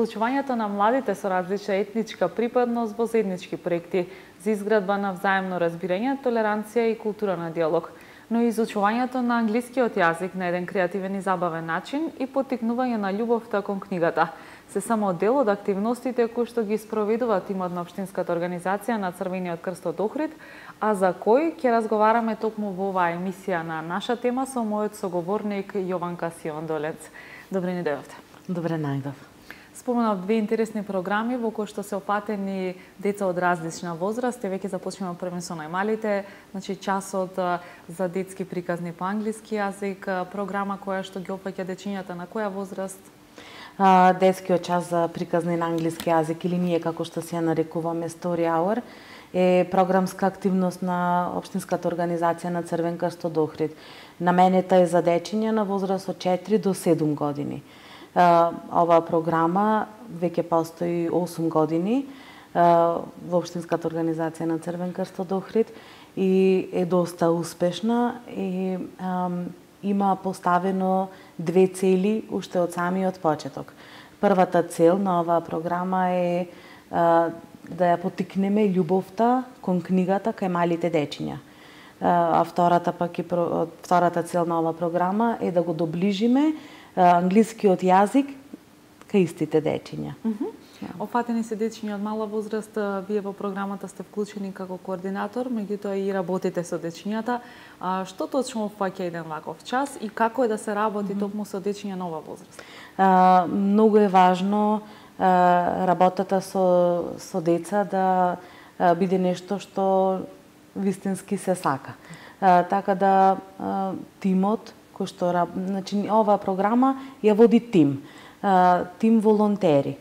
вклучувањето на младите со различна етничка припадност во заеднички проекти за изградба на взаемно разбирање, толеранција и култура на диалог, но и изучувањето на англискиот јазик на еден креативен и забавен начин и поттикнување на љубовта кон книгата. Се само дел од активностите кои што ги спроведува тимот на Општинската организација на Црвениот крст од Охрид, а за кој ќе разговараме токму во оваа емисија на наша тема со мојот соговорник Јованка Сиондолец. Добре ни дојдовте. Добре најдов. Споменав две интересни програми во кои што се опатени деца од различна возраст. Веќе започнеме првен со најмалите, значи часот за детски приказни по англиски јазик, програма која што ги опаќа дечињата на која возраст? Детскиот час за приказни на англиски јазик, или ние како што се ја нарекуваме Story Hour, е програмска активност на Општинската организација на Црвен крст од Охрид. Наменета е за дечиња на возраст од 4 до 7 години. Оваа програма веќе постои 8 години во Општинската организација на Црвен крст од Охрид и е доста успешна и има поставено две цели уште од самиот почеток. Првата цел на оваа програма е да ја поттикнеме љубовта кон книгата кај малите дечиња. А втората цел на оваа програма е да го доближиме англискиот јазик кај истите дечиња. Опфатени се дечиња од мала возраст, вие во програмата сте вклучени како координатор, меѓутоа и работите со дечињата. Што точно опфаќа еден ваков час и како е да се работи токму со дечиња на оваа возраст? Многу е важно работата со деца да биде нешто што вистински се сака. Така да тимот кој што значи оваа програма ја води тим волонтери.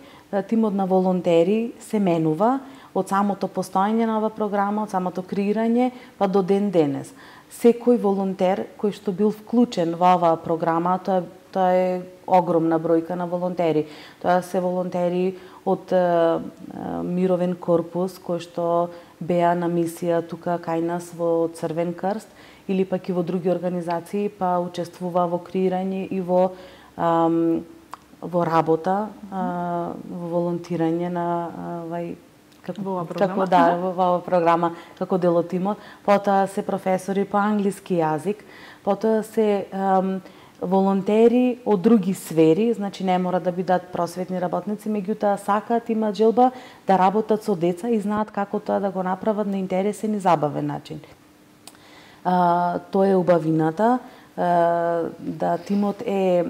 Тимот на волонтери се менува од самото постоење на оваа програма, од самото креирање па до ден денес. Секој волонтер кој што бил вклучен во оваа програма, тоа е огромна бројка на волонтери. Тоа се волонтери од Мировен корпус кој што беа на мисија тука кај нас во Црвен крст или пак и во други организации, па учествува во креирање и во работа, во волонтирање на во оваа програма како дел од тимот. Потоа се професори по англиски јазик, потоа се волонтери од други сфери, значи не мора да бидат просветни работници, меѓутоа сакаат, имаат желба да работат со деца и знаат како тоа да го направат на интересен и забавен начин. Тоа е убавината, да тимот е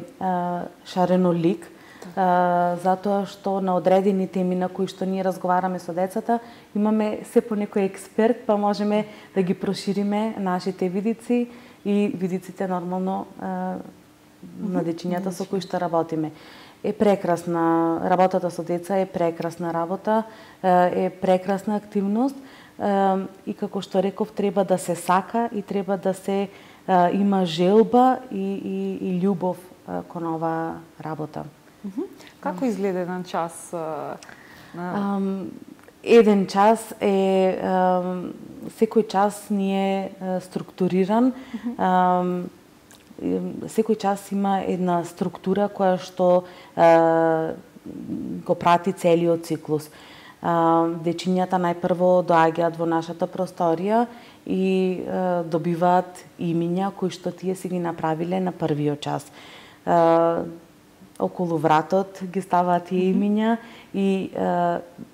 шаренолик, затоа што на одредени теми на кои што ние разговараме со децата, имаме се по некој експерт, па можеме да ги прошириме нашите видици и видиците нормално на дечињата со кои што работиме. Е прекрасна работата со деца, е прекрасна работа, е прекрасна активност и како што реков, треба да се сака и треба да се има желба и љубов кон оваа работа. Како изгледа еден час? Еден час е секој час не е структуриран. Секој час има една структура која што го прати целиот циклус. Дечињата најпрво доаѓаат во нашата просторија и добиваат имиња кои што тие си ги направиле на првиот час. Околу вратот ги ставаат тие имиња и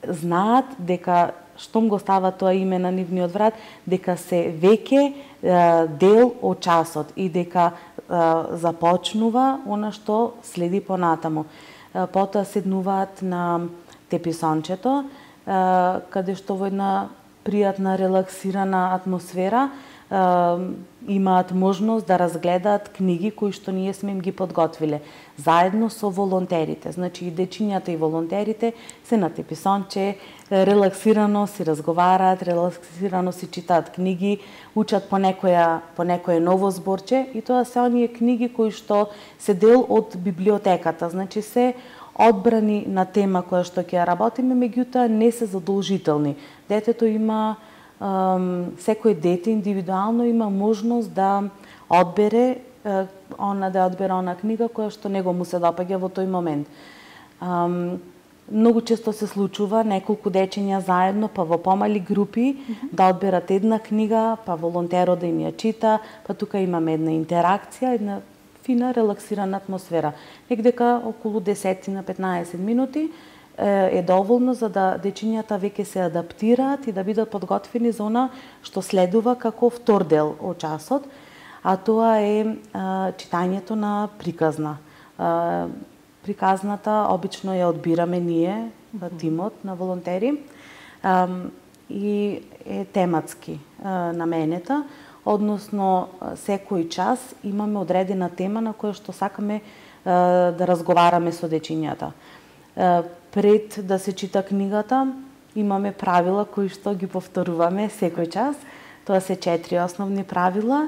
знаат дека штом го става тоа име на нивниот врат, дека се веќе дел од часот и дека започнува она што следи понатаму. Потоа седнуваат на теписончето, каде што во една пријатна, релаксирана атмосфера имаат можност да разгледаат книги кои што ние сме им ги подготвиле, заедно со волонтерите. Значи и дечињата и волонтерите се на теписонче, релаксирано си разговараат, релаксирано си читаат книги, учат по некое ново зборче и тоа се оние книги кои што се дел од библиотеката. Значи се одбрани на тема која што ќе ја работиме, меѓутоа не се задолжителни. Детето има секој дете индивидуално има можност да одбере она книга која што него му се допаѓа во тој момент. Многу често се случува неколку дечиња заедно, па во помали групи, да одберат една книга, па волонтерот да им ја чита, па тука имаме една интеракција, една фина, релаксирана атмосфера. Некдека околу 10 на 15 минути е доволно за да дечињата веќе се адаптираат и да бидат подготвени за она што следува како втор дел од часот, а тоа е читањето на приказна. Приказната обично ја одбираме ние, тимот на волонтери, и е тематски наменета, односно секој час имаме одредена тема на која што сакаме да разговараме со дечињата. Пред да се чита книгата, имаме правила кои што ги повторуваме секој час. Тоа се 4 основни правила.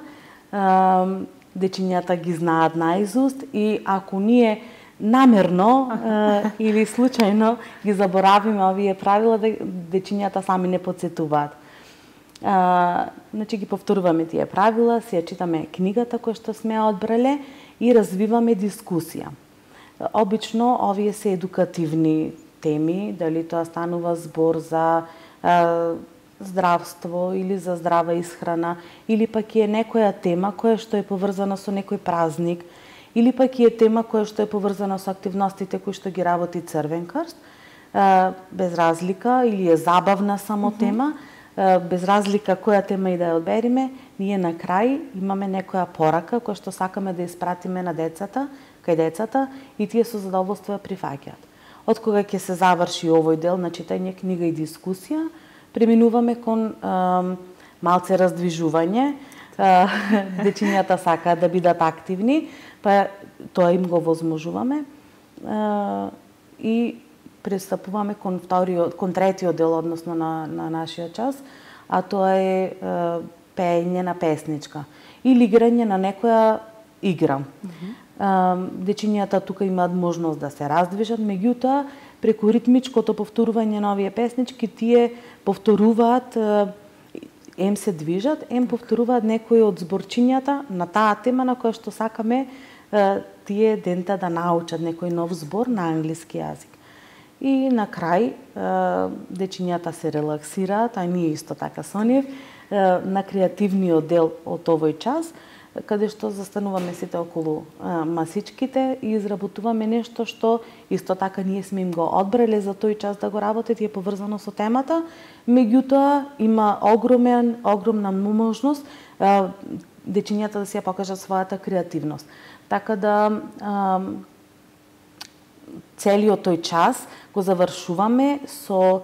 Дечињата ги знаат наизуст и ако ние намерно или случајно ги заборавиме овие правила, дечињата сами не потсетуваат. Значи ги повторуваме тие правила, си ја читаме книгата која што сме ја одбрале и развиваме дискусија. Обично овие се едукативни теми, дали тоа станува збор за здравство или за здрава исхрана, или пак е некоја тема која што е поврзана со некој празник, или пак е тема која што е поврзана со активностите кои што ги работи Црвен крст, без разлика, или е забавна само тема, без разлика која тема и да ја одбериме, ние на крај имаме некоја порака која што сакаме да испратиме на децата, кај децата, и тие со задоволство ја прифаќаат. Од кога ќе се заврши овој дел на читање, книга и дискусија, преминуваме кон малце раздвижување. Дечињата сакаат да бидат активни, па тоа им го возможуваме и пристапуваме кон третиот дел, односно на нашиот час, а тоа е пеење на песничка или играње на некоја игра. Дечињата тука имаат можност да се раздвижат, меѓутоа преку ритмичкото повторување на овие песнички тие повторуваат, ем се движат, ем повторуваат некои од зборчињата на таа тема на која што сакаме тие дента да научат некој нов збор на англиски јазик. И на крај дечињата се релаксираат, а ние исто така со нив, на креативниот дел од овој час, каде што застануваме сите околу масичките и изработуваме нешто што исто така ние сме им го одбрале за тој час да го работат и е поврзано со темата, меѓутоа има огромна можност дечињата да си ја покажат својата креативност. Така да целиот тој час го завршуваме со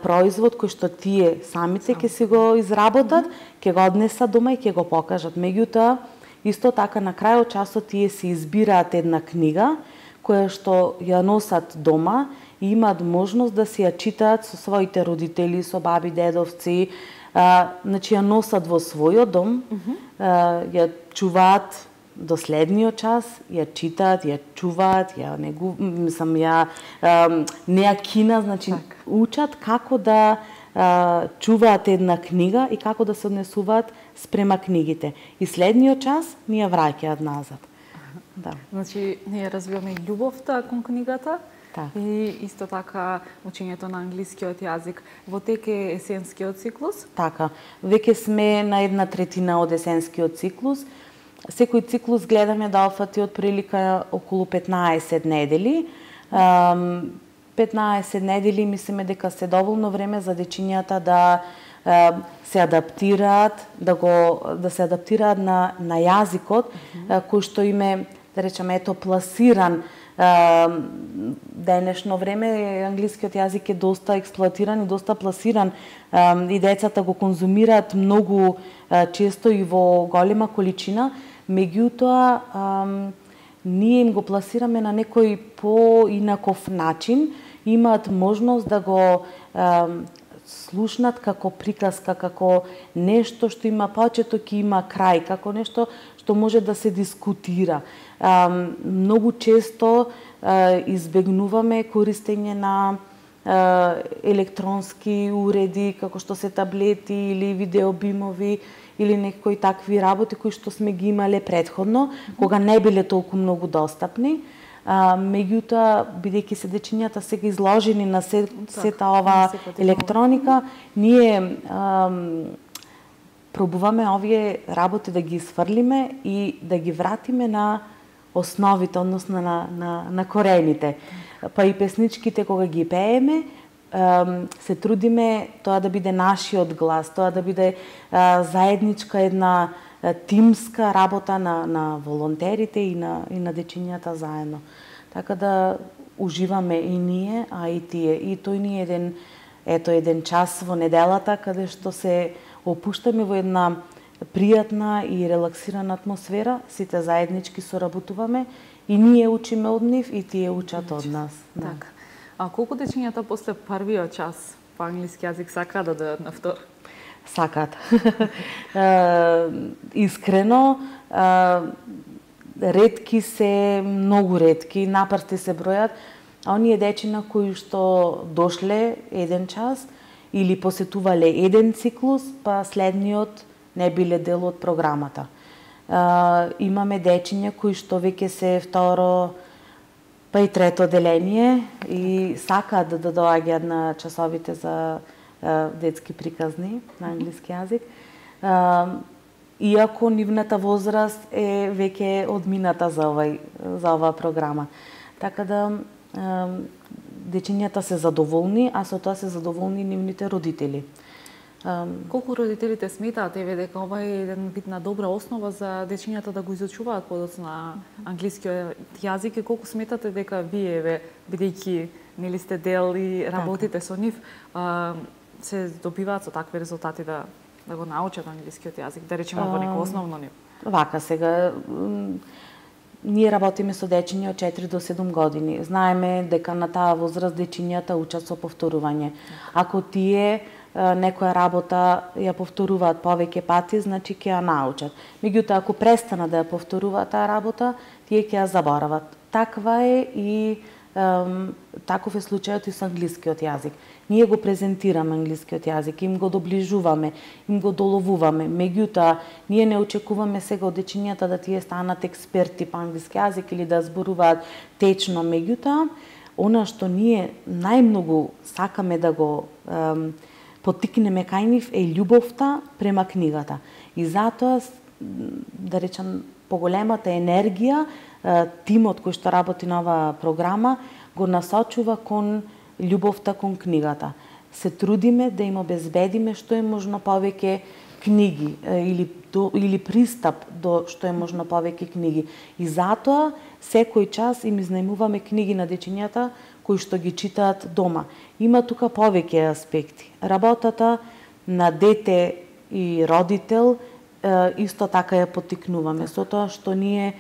производ кој што тие самите ќе си го изработат, ќе го однесат дома и ќе го покажат. Меѓутоа, исто така на крајот часот тие си избираат една книга која што ја носат дома и имаат можност да си ја читаат со своите родители, со баби, дедовци, значи ја носат во својот дом, ја чуваат до следниот час, ја читаат, ја чуваат, не ја кина, значи учат како да чуваат една книга и како да се однесуваат спрема книгите. И следниот час ни ја враќаат назад. Да. Значи, ние развиваме љубовта кон книгата, и исто така учењето на англискиот јазик. Во тек е есенскиот циклус? Така. Веќе сме на 1/3 од есенскиот циклус. Секој циклус гледаме да офати од прилика околу 15 недели. 15 недели мислиме дека се доволно време за дечињата да се адаптираат, да се адаптираат на јазикот кој што им е, да речеме, пласиран. Денешно време англискиот јазик е доста експлоатиран и доста пласиран и децата го конзумираат многу често и во голема количина, меѓутоа ние им го пласираме на некој поинаков начин, имаат можност да го слушнат како приказка, како нешто што има почеток и има крај, како нешто што може да се дискутира. Многу често избегнуваме користење на електронски уреди, како што се таблети или видеобимови, или некои такви работи кои што сме ги имале претходно, кога не биле толку многу достапни. Меѓутоа, бидејќи се дечињата сега изложени на сета ова електроника, ние пробуваме овие работи да ги исфрлиме и да ги вратиме на основите, односно на корените. Па и песничките кога ги пееме, се трудиме тоа да биде нашиот глас, тоа да биде заедничка една тимска работа на волонтерите и на дечињата заедно. Така да уживаме и ние, а и тие. И тој ни е еден час во неделата каде што се опуштаме во една пријатна и релаксирана атмосфера, сите заеднички соработуваме и ние учиме од нив и тие учат од нас. Така. А колку дечињата после првиот час по англиски јазик сакаат да дојдат на втор? Сакаат. Искрено, ретки се, многу ретки, напрсти се бројат, а оние дечина кои што дошле еден час или посетувале еден циклус, па следниот не биле дел од програмата. Имаме дечиња кои што веќе се второ, па и трето деление и сакаат да доаѓаат на часовите за детски приказни на англиски јазик. Иако нивната возраст е веќе одмината за оваа програма. Така да дечињата се задоволни, а со тоа се задоволни нивните родители. Колку родителите сметаат дека ова е еден вид на добра основа за дечињата да го изучуваат подоцна англискиот јазик и колку сметате дека вие, бидејќи нели сте дел и работите со нив, се добиваат со такви резултати да го научат англискиот јазик, да речеме во неко основно ниво? Вака сега, ние работиме со дечиња од 4 до 7 години. Знаеме дека на таа возраст дечињата учат со повторување. Ако тие некоја работа ја повторуваат повеќе пати, значи ќе ја научат. Меѓутоа, ако престанат да ја повторуваат таа работа, тие ќе ја заборават. Таква е и таков е случајот и со англискиот јазик. Ние го презентираме англискиот јазик, им го доближуваме, им го доловуваме. Меѓутоа, ние не очекуваме сега од дечињата да тие станат експерти по англиски јазик или да зборуваат течно. Меѓутоа, она што ние најмногу сакаме да го поттикнеме кај нив е љубовта према книгата. И затоа, да речам, поголемата енергија, тимот кој што работи на оваа програма го насочува кон љубовта кон книгата. Се трудиме да им обезбедиме што е можно повеќе книги или пристап до што е можно повеќе книги. И затоа секој час им изнајмуваме книги на дечињата кои што ги читаат дома. Има тука повеќе аспекти. Работата на дете и родител исто така ја поттикнуваме. Со тоа што ние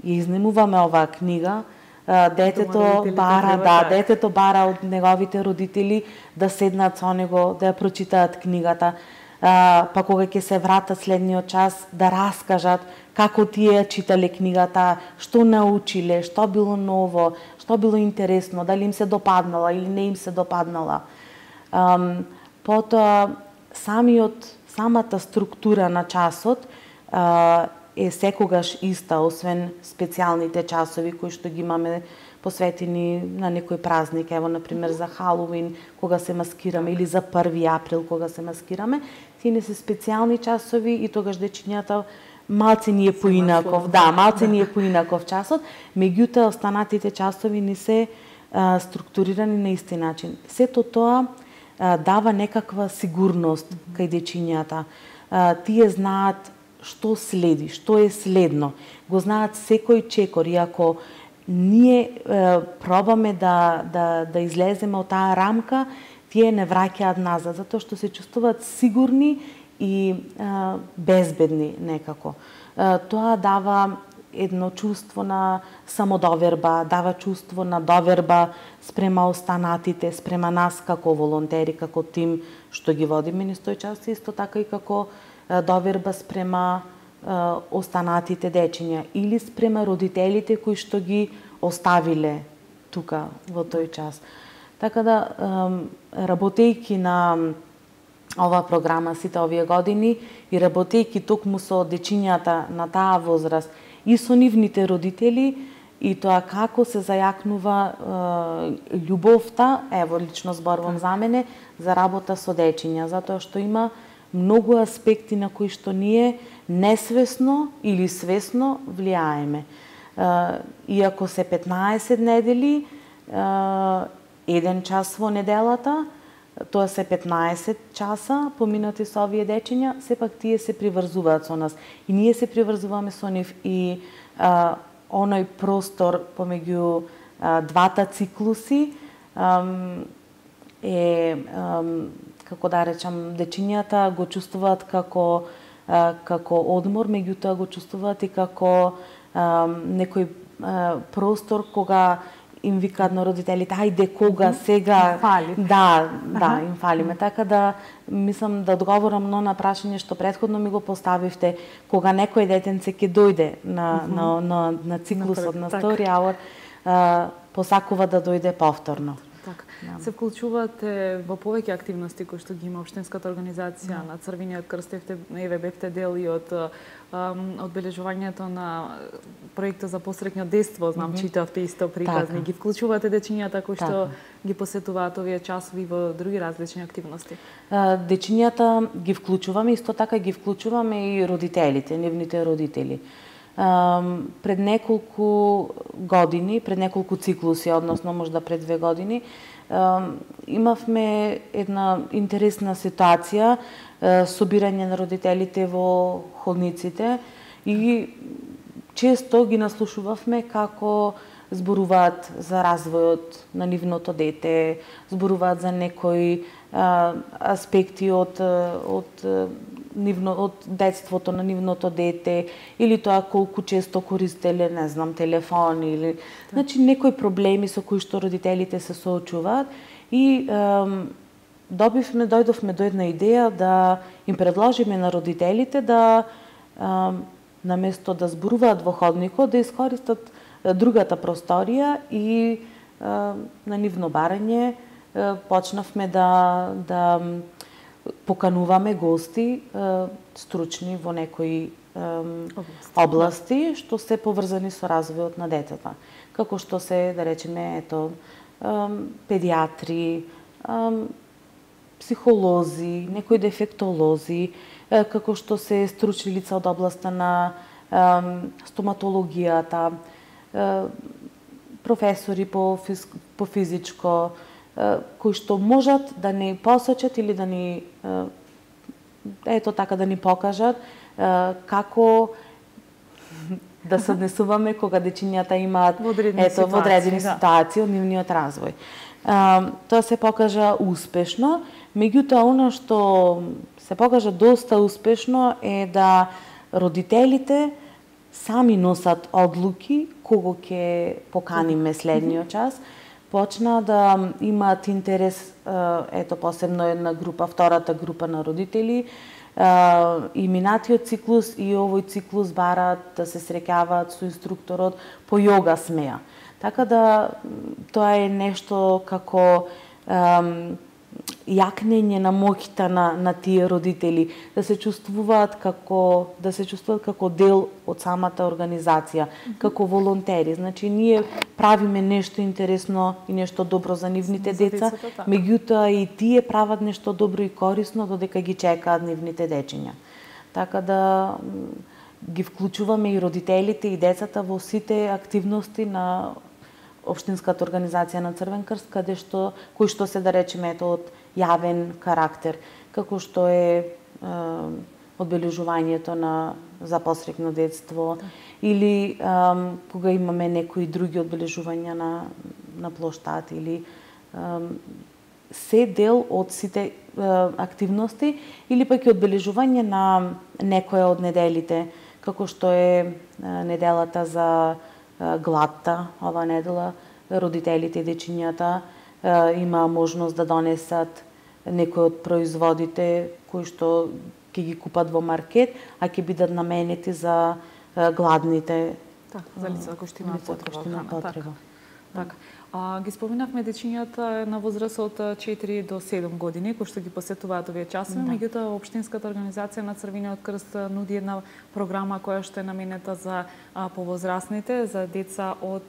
ја изнајмуваме оваа книга, детето бара од неговите родители да седнат со него, да ја прочитаат книгата, па кога ќе се вратат следниот час да раскажат како тие ја читале книгата, што научиле, што било ново, што било интересно, дали им се допаднала или не им се допаднала. Потоа, самата структура на часот е секогаш иста, освен специјалните часови кои што ги имаме посветени на некој празник, ево например за Халоуин кога се маскираме или за 1 април кога се маскираме, тие не се специјални часови и тогаш дечињата малце ни е поинаков, малце ни е поинаков часот, меѓутоа останатите часови ни се структурирани на исти начин. Сето тоа дава некаква сигурност кај дечињата. Тие знаат што следи, што е следно. Го знаат секој чекор, и ако ние пробаме да излеземе од таа рамка, тие не враќаат назад, затоа што се чувствуваат сигурни и безбедни некако. Тоа дава едно чувство на самодоверба, дава чувство на доверба спрема останатите, спрема нас како волонтери, како тим што ги водиме низ тој час, исто така и како доверба спрема останатите дечиња или спрема родителите кои што ги оставиле тука во тој час. Така да, работејќи на оваа програма сите овие години и работејќи токму со дечињата на таа возраст и со нивните родители, и тоа како се зајакнува љубовта, ево лично зборувам за мене, за работа со дечиња, затоа што има многу аспекти на кои што ние несвесно или свесно влијаеме. Иако се 15 недели, 1 час во неделата, тоа се 15 часа поминати со овие дечиња, сепак тие се приврзуваат со нас. И ние се приврзуваме со нив и оној простор помеѓу двата циклуси е, како да речам, дечињата го чувствуваат како одмор, меѓутоа го чувствуваат и како некој простор кога им викаат на родителите, ајде кога сега фали. Да, им фалиме. Така да мислам да одговорам на прашање што претходно ми го поставивте, кога некој детенце ќе дојде на циклусот на Story Hour, посакува да дојде повторно. Така. Се вклучувате во повеќе активности кои што ги има општинската организација на Црвениот крст, еве бевте дел и од одбележувањето на проектот за посреќно детство, знам читавте исто приказни, ги вклучувате дечињата кои што ги посетуваат овие часови во други различни активности? Дечињата ги вклучуваме, исто така ги вклучуваме и родителите, нивните родители. Пред неколку години, пред неколку циклуси, односно можда пред 2 години, имавме една интересна ситуација, собирање на родителите во ходниците и често ги наслушувавме како зборуваат за развојот на нивното дете, зборуваат за некои аспекти од детството на нивното дете, или тоа колку често користеле, не знам, телефон или значи некои проблеми со кои што родителите се соочуваат и дојдовме до една идеја да им предложиме на родителите да наместо да зборуваат во ходникот, да искористат другата просторија и на нивно барање почнавме да покануваме гости стручни во некои области што се поврзани со развојот на детето. Како што се, да речеме, педиатри, психолози, некои дефектолози, како што се стручни лица од областа на стоматологијата, професори по физичко, кои што можат да ни посочат или да ни да ни покажат како да се однесуваме кога дечињата имаат во одредени ситуации од нивниот развој. Тоа се покажа успешно, меѓутоа она што се покажа доста успешно е да родителите сами носат одлуки кого ќе поканиме следниот час, почна да имаат интерес, посебно една група, втората група на родители, и минатиот циклус и овој циклус бараат да се среќаваат со инструкторот по јога смеја. Така да тоа е нешто како јакнење на моќта на тие родители, да се чувствуваат како дел од самата организација, како волонтери. Значи ние правиме нешто интересно и нешто добро за нивните деца, меѓутоа и тие прават нешто добро и корисно додека ги чекаат нивните дечиња. Така да ги вклучуваме и родителите и децата во сите активности на општинската организација на Црвен крст, кои што се, да речеме, од јавен карактер, како што е одбележувањето за посреќно детство или кога имаме некои други одбележувања на плоштад или се дел од сите активности или пак и одбележување на некоја од неделите, како што е неделата за гладта, ова недела, родителите и дечињата има можност да донесат некои од производите кои што ќе ги купат во маркет, а ќе бидат наменети за гладните, за лица кои што имаат потреба. Така. Ги споминавме дечињата на возраст од 4 до 7 години, кои што ги посетуваат овие часови, меѓутоа Општинската организација на Црвениот крст нуди една програма која што е наменета за повозрасните, за деца од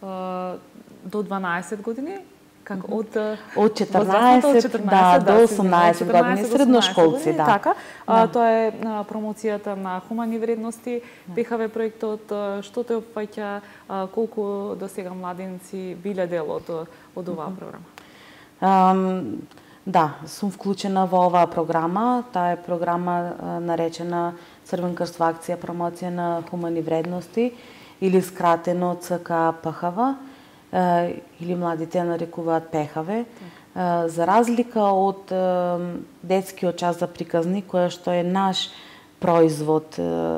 до 12 години, како од 14 до 18 години, средношколци, да. Така, тоа е промоцијата на хумани вредности, ПХВ проектот, што те опфаќа, колку досега младенци биле дел од оваа програма? Да, сум вклучена во оваа програма. Таа е програма наречена Црвен крст во акција промоција на хумани вредности или скратено ЦК-ПХВ, или младите нарекуваат ПХВ, за разлика од детскиот час за приказни, која што е наш производ,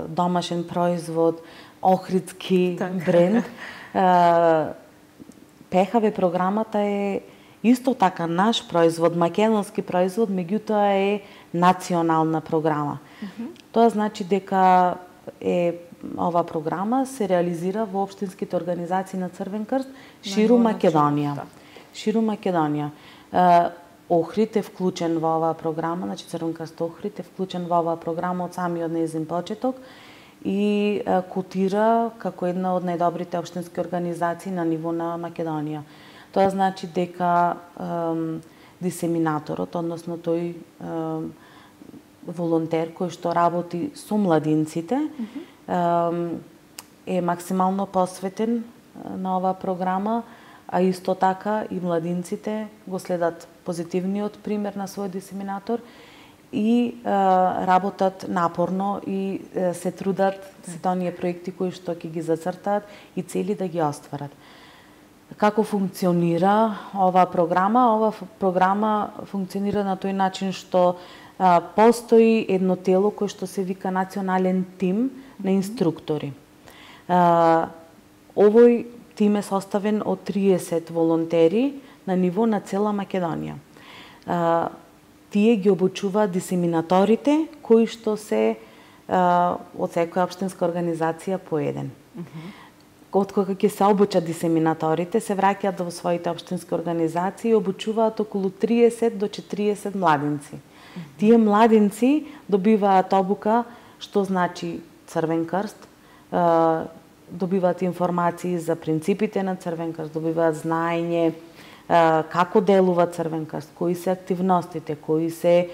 домашен производ, охридски бренд. ПХВ програмата е исто така наш производ, македонски производ, меѓутоа е национална програма. Тоа значи дека ова програма се реализира во општинските организации на Црвен крст ширум Македонија. Ширум Македонија. Охрид е вклучен во оваа програма, значи Црвен крст Охрид е вклучен во оваа програма од самиот нејзин почеток и котира како една од најдобрите општински организации на ниво на Македонија. Тоа значи дека дисеминаторот, односно тој волонтер кој што работи со младинците, е максимално посветен на оваа програма, а исто така и младинците го следат позитивниот пример на својот дисеминатор и работат напорно и се трудат сите оние проекти кои што ќе ги зацртаат и цели да ги остварат. Како функционира оваа програма? Оваа програма функционира на тој начин што постои едно тело кое што се вика национален тим на инструктори. Овој тим е составен од 30 волонтери на ниво на цела Македонија. Тие ги обучуваат дисеминаторите кои што се од секоја општинска организација по еден. Откога ќе се обучат дисеминаторите, се враќаат во своите општински организации и обучуваат околу 30 до 40 младинци. Тие младинци добиваат обука што значи Црвен крст, добиваат информации за принципите на Црвен крст, добиваат знаење како делува Црвен крст, кои се активностите, кои се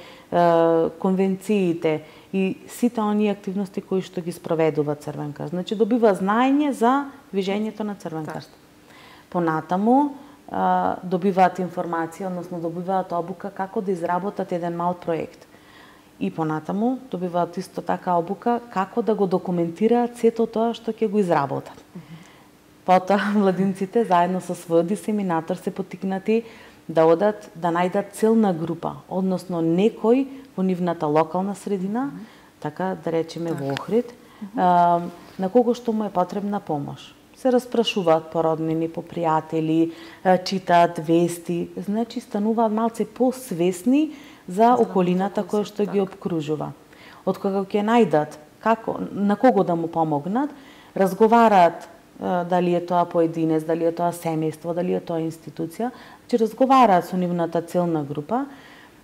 конвенциите и сите оние активности кои што ги спроведува Црвен крст. Значи добива знаење за движењето на Црвен крст. Понатаму добиваат информација, односно добиваат обука како да изработат еден мал проект. И понатаму добиваат исто така обука како да го документираат сето тоа што ќе го изработат. Потоа младинците заедно со својот дисеминатор се поттикнати да одат да најдат целна група, односно некој во нивната локална средина, така да речеме во Охрид, на кого што му е потребна помош. Се распрашуваат по роднини, по пријатели, читаат вести, значи стануваат малце посвесни за околината која што ги обкружува. Од кога ќе најдат како на кого да му помогнат, разговараат дали е тоа поединец, дали е тоа семејство, дали е тоа институција, че разговараат со нивната целна група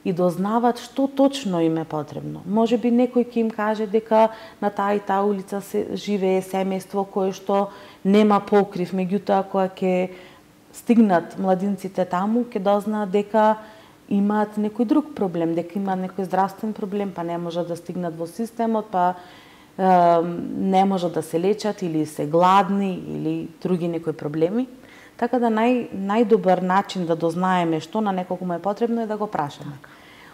и дознаваат што точно им е потребно. Може би некој ќе им каже дека на таа и таа улица се живее семејство кое што нема покрив, меѓутоа кога ќе стигнат младинците таму, ќе дознаат дека имаат некој друг проблем, дека имаат некој здравствен проблем, па не можат да стигнат во системот, па не можат да се лечат или се гладни или други некои проблеми. Така да најдобар начин да дознаеме што на некого му е потребно е да го прашаме.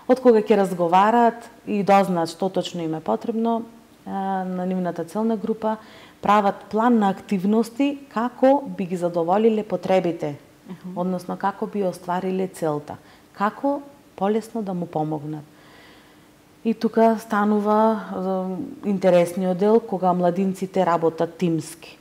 Од кога ќе разговараат и дознаат што точно им е потребно, на нивната целна група прават план на активности како би ги задоволиле потребите, односно како би оствариле целта, како полесно да му помогнат. И тука станува интересниот дел кога младинците работат тимски.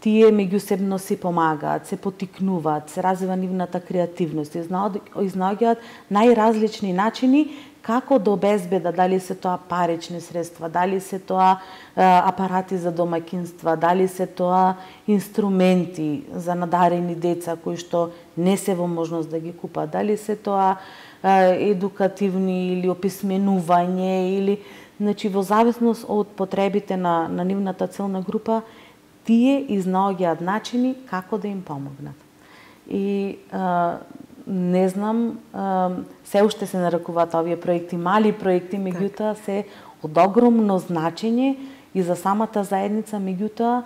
тие меѓусебно се помагаат, се потикнуваат, се развива нивната креативност, изнаоѓаат најразлични начини како да обезбедат, дали се тоа парични средства, дали се тоа апарати за домаќинства, дали се тоа инструменти за надарени деца кои што не се во можност да ги купат, дали се тоа едукативни или описменување или значи во зависност од потребите на нивната целна група, тие изнаоѓаат начини како да им помогнат. И не знам, се уште се нарекуваат овие проекти мали проекти, меѓутоа се од огромно значење и за самата заедница, меѓутоа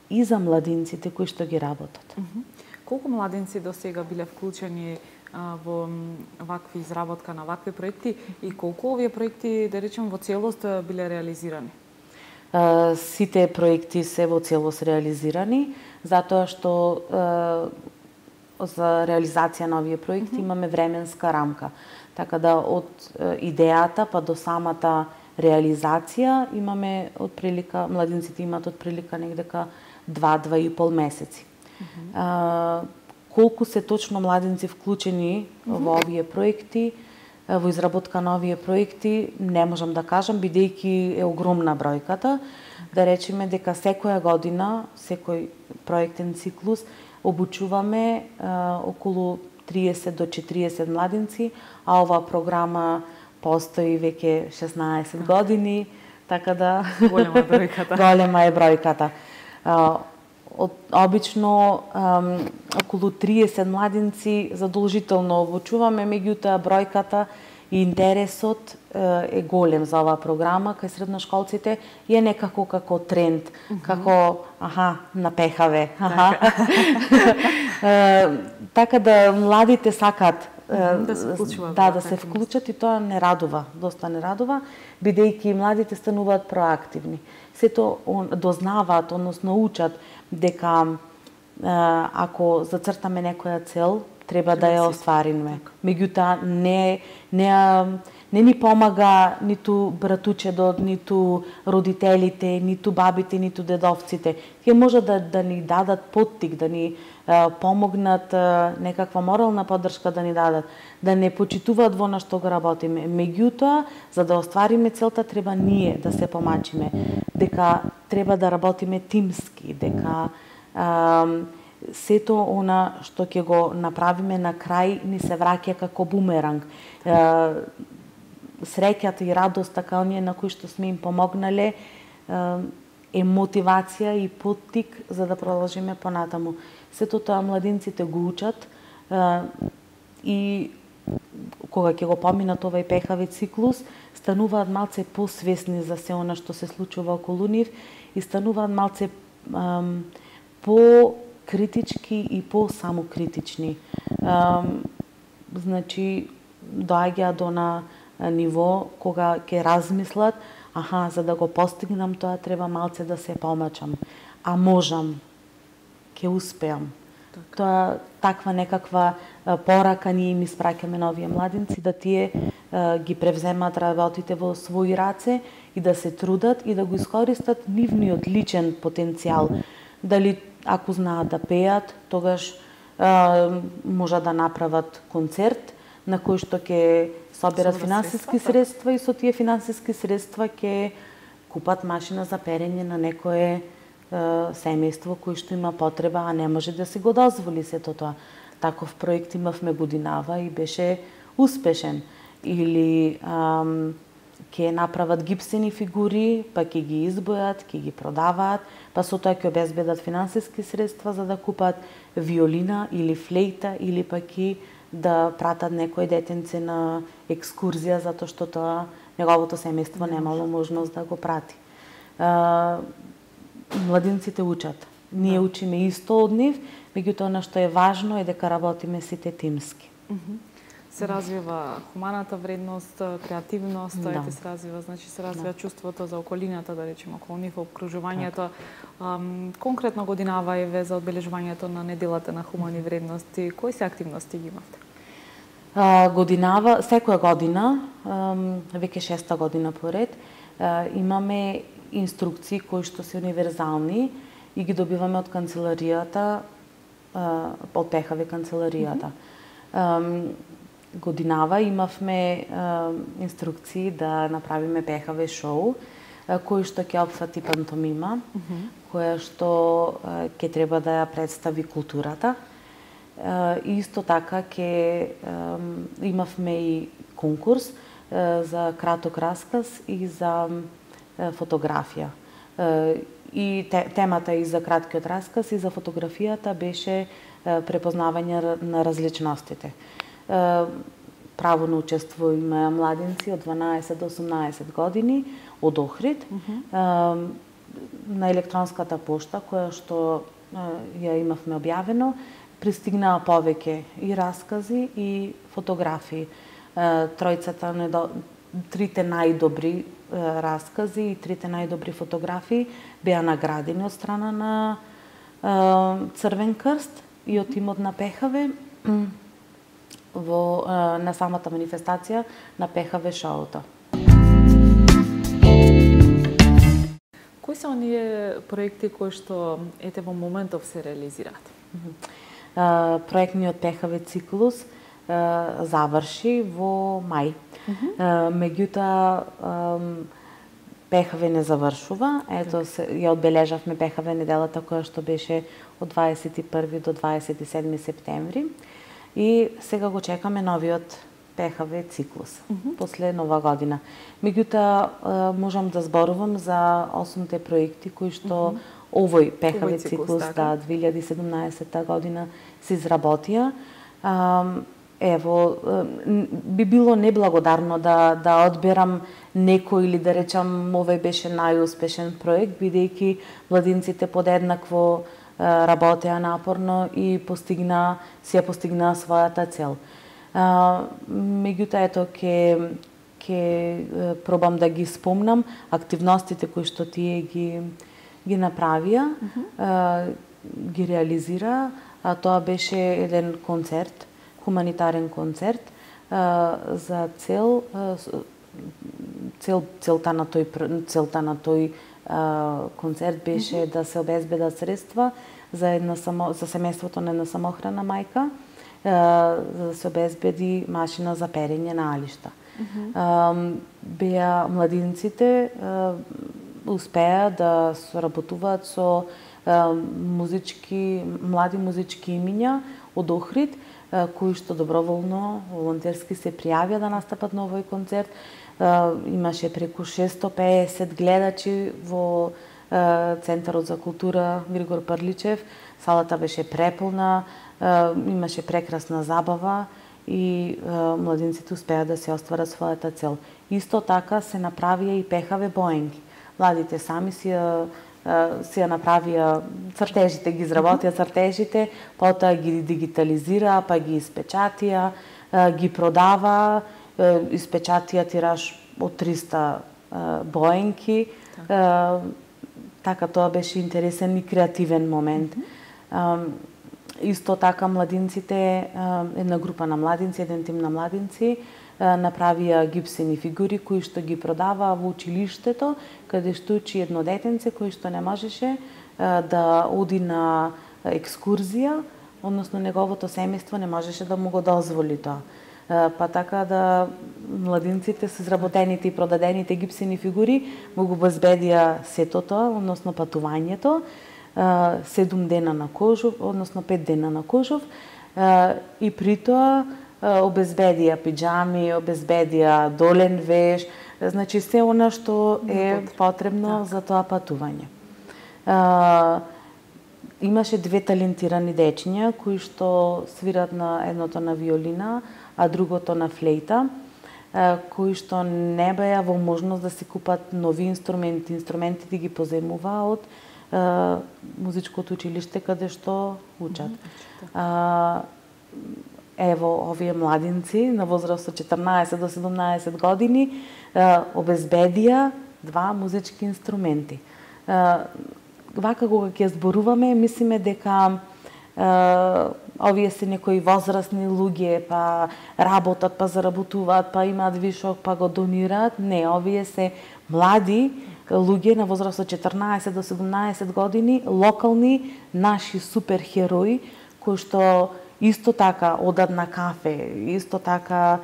и за младинците кои што ги работат. Колку младинци до сега биле вклучени во вакви изработка на вакви проекти и колку овие проекти, да речем, во целост биле реализирани? Сите проекти се во целост реализирани, затоа што за реализација на овие проекти имаме временска рамка. Така да од идејата па до самата реализација имаме отприлика, младинците имаат отприлика негдека 2-2,5 месеци. Колку се точно младинци вклучени во овие проекти, во изработка на овие проекти, не можам да кажам, бидејќи е огромна бројката. Да речеме дека секоја година, секој проектен циклус, обучуваме околу 30 до 40 младинци, а оваа програма постои веќе 16 години, така да голема е бројката. Голема е бројката. Обично околу 30 младинци задолжително обучуваме, меѓутоа бројката и интересот е голем за оваа програма кај средношколците и е некако како тренд, како напехаве. Така да младите сакаат да се вклучуваат. Да се вклучат и тоа не радува, доста не радува, бидејќи младите стануваат проактивни. Сето дознаваат, односно учат дека ако зацртаме некоја цел, треба да ја оствариме. Меѓутоа не ни помага ниту братучедот, ниту родителите, ниту бабите, ниту дедовците. Тие може да ни дадат поттик, да ни помогнат, некаква морална поддршка да ни дадат, да не почитуваат во на што го работиме. Меѓутоа, за да оствариме целта, треба ние да се помачиме, дека треба да работиме тимски, дека сето она што ќе го направиме на крај ни се враќа како бумеранг. Среќата и радоста као ние на кои што сме им помогнале е мотивација и поттик за да продолжиме понатаму. Сето тоа младинците го учат и кога ќе го поминат овај пехави циклус, стануваат малце посвесни за се она што се случува околу нив и стануваат малце по-критички и по-самокритични. Значи, доаѓа до на ниво кога ќе размислат, за да го постигнам тоа треба малце да се помачам. А можам, ќе успеам. Тоа таква некаква порака ние им испраќаме на овие младинци да тие ги превземат работите во своји раце и да се трудат и да го искористат нивниот личен потенцијал. Дали ако знаат да пеат, тогаш може да направат концерт на кој што ќе соберат финансиски средства и со тие финансиски средства ќе купат машина за перење на некое семејство кој што има потреба, а не може да си го дозволи сето тоа. Таков проект имавме годинава и беше успешен. Или ќе направат гипсени фигури, па ќе ги избојат, ќе ги продаваат, па со тоа ќе обезбедат финансиски средства за да купат виолина или флейта или пак и да пратат некој детенце на екскурзија затоа што тоа неговото семејство немало можност да го прати. Младинците учат. Ние учиме исто од нив, меѓутоа она што е важно е дека работиме сите тимски. Се развива хуманата вредност, креативност, се развива, значи се развива чувството за околината, да речеме, околу нив, обкружувањето. Конкретно годинава еве за одбележувањето на неделата на хумани вредности, кои се активности ги имавте? Годинава, секоја година, веќе 6-та година поред, имаме инструкции кои што се универзални и ги добиваме од канцеларијата, од ПХВ канцеларијата. Годинава имавме инструкции да направиме ПХВ шоу, кој што ќе опфати пантомима, која што ќе треба да ја представи културата. И исто така имавме и конкурс за краток расказ и за фотографија. И темата и за краткиот расказ и за фотографијата беше препознавање на различностите. Право на учество има младинци од 12 до 18 години од Охрид. На електронската пошта која што ја имавме објавено, пристигнаа повеќе и раскази и фотографии. Трите најдобри раскази и трите најдобри фотографии беа наградени од страна на Црвен крст и од тимот на ПХВ на самата манифестација на ПХВ шоуто. Кои се оние проекти кои што во моментов се реализираат? Проектниот ПХВ циклус заврши во мај. Меѓутоа ПХВ не завршува. Ето ја одбележавме ПХВ неделата која што беше од 21 до 27 септември и сега го чекаме новиот ПХВ циклус после нова година. Меѓутоа можам да зборувам за 8 проекти кои што овој ПХВ циклус 2017 година се изработија. Ево, би било неблагодарно да одберам некој или да речам овој беше најуспешен проект, бидејќи младинците подеднакво работеа напорно и постигнаа својата цел. Меѓутоа, ето, ќе пробам да ги спомнам активностите кои што тие ги направија, ги реализира, а тоа беше еден концерт, хуманитарен концерт за целта на тој концерт беше да се обезбедат средства за семејството на една самохрана мајка, за да се обезбеди машина за перење на алишта. Беа младинците успеа да соработуваат со млади музички имиња од Охрид, кои што доброволно, волонтерски се пријавија да настапат на овој концерт. Имаше преку 650 гледачи во Центарот за култура Григор Прличев. Салата беше преполна, имаше прекрасна забава и младинците успеа да се остварат својата цел. Исто така се направија и ПХВ боенки. Младите сами си ја направија цртежите, ги изработија цртежите, потоа ги дигитализираа, па ги испечатија, ги продаваа, испечатија тираж од 300 боенки. Така тоа беше интересен и креативен момент. Исто така младинците, една група на младинци, еден тим на младинци, направија гипсени фигури кои што ги продаваа во училиштето, каде што учи едно детенце кој што не можеше да оди на екскурзија, односно неговото семејство не можеше да му го дозволи тоа. Па така да младинците со изработените и продадените гипсени фигури му го обезбедија сето тоа, односно патувањето, 7 дена на Кожов, односно 5 дена на Кожов, и при тоа обезбедија пиџами, обезбедија долен веш, значи се она што е потребно за тоа патување. Имаше 2 талентирани дечиња кои што свират на едното на виолина, а другото на флейта, кои што не беа во можност да си купат нови инструменти. Инструментите ги поземуваа од музичкото училиште каде што учат. Ево, овие младинци на возраст од 14 до 17 години обезбедија 2 музички инструменти. Вака кога ќе зборуваме, мислиме дека овие се некои возрастни луѓе, па работат, па заработуваат, па имаат вишок, па го донираат. Не, овие се млади луѓе на возраст од 14 до 17 години, локални наши суперхерои кои што исто така одат на кафе, исто така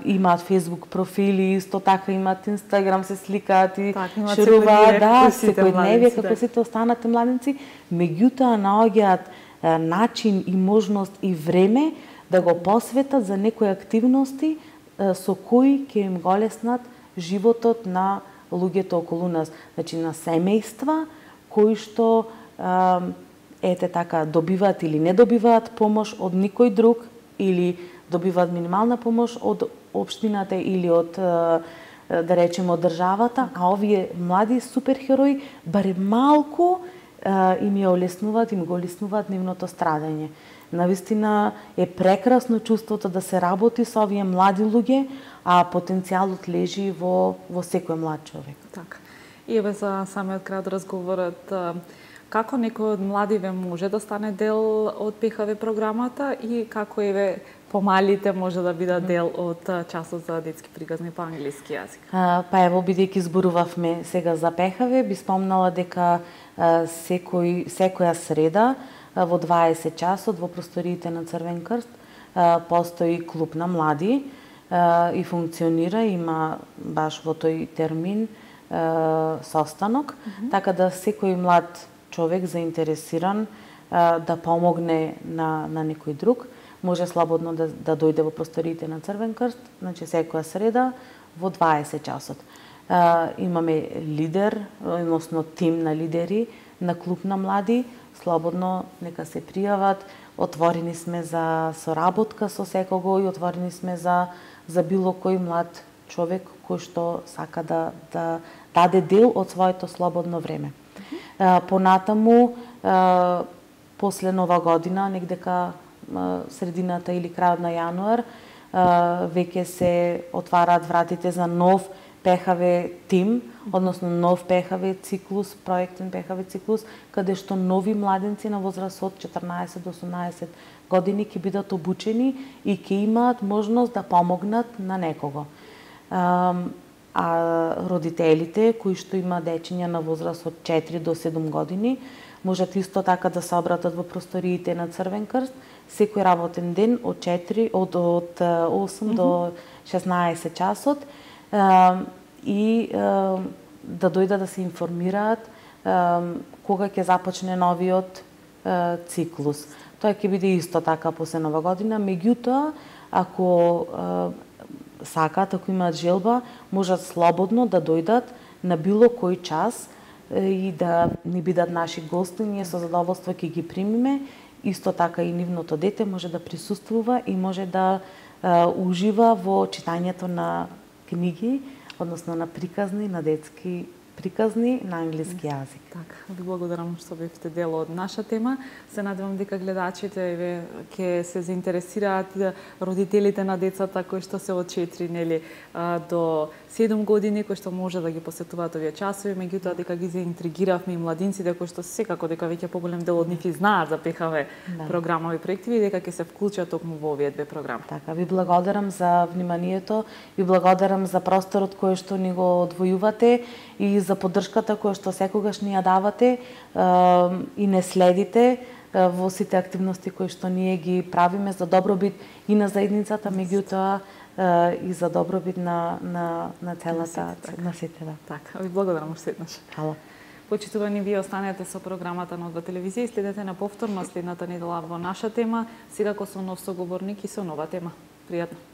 имаат Facebook профили, исто така имаат Instagram, се сликаат и шеруваат, секојдневие како сите останати младенци, меѓутоа наоѓаат начин и можност и време да го посветат за некои активности со кои ќе им го леснат животот на луѓето околу нас, значи на семејства кои што ете така добиваат или не добиваат помош од никој друг или добиваат минимална помош од општината или од да речеме од државата, а овие млади суперхерои барем малку им ја олеснуваат, им го олеснуваат нивното страдање. Навистина е прекрасно чувството да се работи со овие млади луѓе, а потенцијалот лежи во секој млад човек. Така. И еве за самиот крај од разговорот, како некој од младиве може да стане дел од ПХВ програмата и како еве помалите може да бидат дел од часот за детски приказни по англиски јазик? Па ево, бидејќи зборувавме сега за ПХВ, би спомнала дека секоја среда во 20 часот во просториите на Црвен крст постои клуб на млади и функционира, има баш во тој термин состанок, така да секој млад човек заинтересиран да помогне на некој друг, може слободно да дојде во просториите на Црвен крст, значи секоја среда во 20 часот. Имаме лидер, односно тим на лидери на клуб на млади, слободно нека се пријават, отворени сме за соработка со секого и отворени сме за било кој млад човек кој што сака да даде дел од своето слободно време. Понатаму, после Нова година, негдека средината или крајот на јануар, веќе се отвараат вратите за нов ПХВ тим, односно нов ПХВ циклус, проектен ПХВ циклус, каде што нови младенци на возраст од 14 до 18 години ќе бидат обучени и ќе имаат можност да помогнат на некого. А родителите кои што има дечиња на возраст од 4 до 7 години можат исто така да се обратат во просториите на Црвен крст секој работен ден од 8 до 16 часот и да дојдат да се информираат кога ќе започне новиот циклус. Тоа ќе биде исто така после Нова година, меѓутоа ако сакаат, ако имаат желба, можат слободно да дојдат на било кој час и да ни бидат наши гости, ние со задоволство ќе ги примиме. Исто така и нивното дете може да присуствува и може да ужива во читањето на книги, односно на приказни, на детски приказни на англиски јазик. Така, ви благодарам што бевте дел од наша тема. Се надевам дека гледачите ќе се заинтересираат, родителите на децата кои што се од 4 до 7 години, кои што може да ги посетуваат овие часови, меѓутоа дека ги заинтригиравме и младинците кои што секако дека веќе поголем дел од нив и знаат за ПХВ програмови проективи, дека ќе се вклучат токму во овие две програми. Така, ви благодарам за вниманието, ви благодарам за просторот кој што ни го одвојувате и за поддршката која што секогаш ни ја давате и не следите во сите активности кои што ние ги правиме за добробит и на заедницата, меѓутоа и за добробит на целата, на сите. Така, ви благодарам уште еднаш. Хала. Почитувани, вие останете со програмата на Одва телевизија и следете на повторно следната недела во наша тема, секако со нов соговорник и со нова тема. Пријатно.